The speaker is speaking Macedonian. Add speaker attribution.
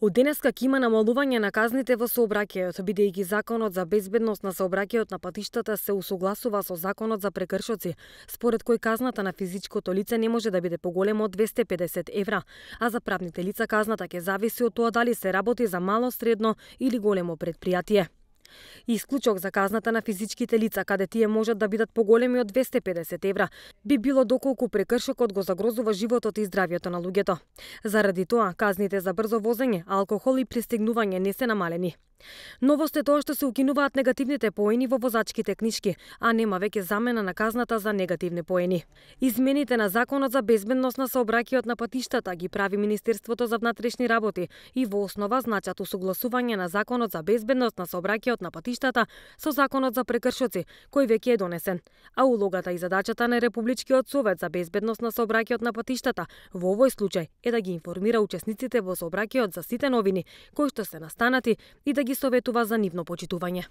Speaker 1: Од денеска ќе има намалување на казните во сообраќајот, бидејќи Законот за безбедност на сообраќајот на патиштата се усогласува со Законот за прекршоци, според кој казната на физичкото лице не може да биде поголема од 250 евра, а за правните лица казната ќе зависи од тоа дали се работи за мало, средно или големо предпријатие. Исклучок за казната на физичките лица, каде тие можат да бидат поголеми од 250 евра, би било доколку прекршокот го загрозува животот и здравјето на луѓето. Заради тоа, казните за брзо возење, алкохол и пристигнување не се намалени. Новост е тоа што се укинуваат негативните поени во возачките книшки, а нема веќе замена на казната за негативни поени. Измените на Законот за безбедност на сообраќајот на патиштата ги прави Министерството за внатрешни работи и во основа значат усогласување на Законот за безбедност на сообраќајот на патиштата со Законот за прекршоци, кој веќе е донесен. А улогата и задачата на Републичкиот совет за безбедност на сообраќајот на патиштата во овој случај е да ги информира учесниците во сообраќајот за сите новини кои што се настанати и да ги советува за нивно почитување.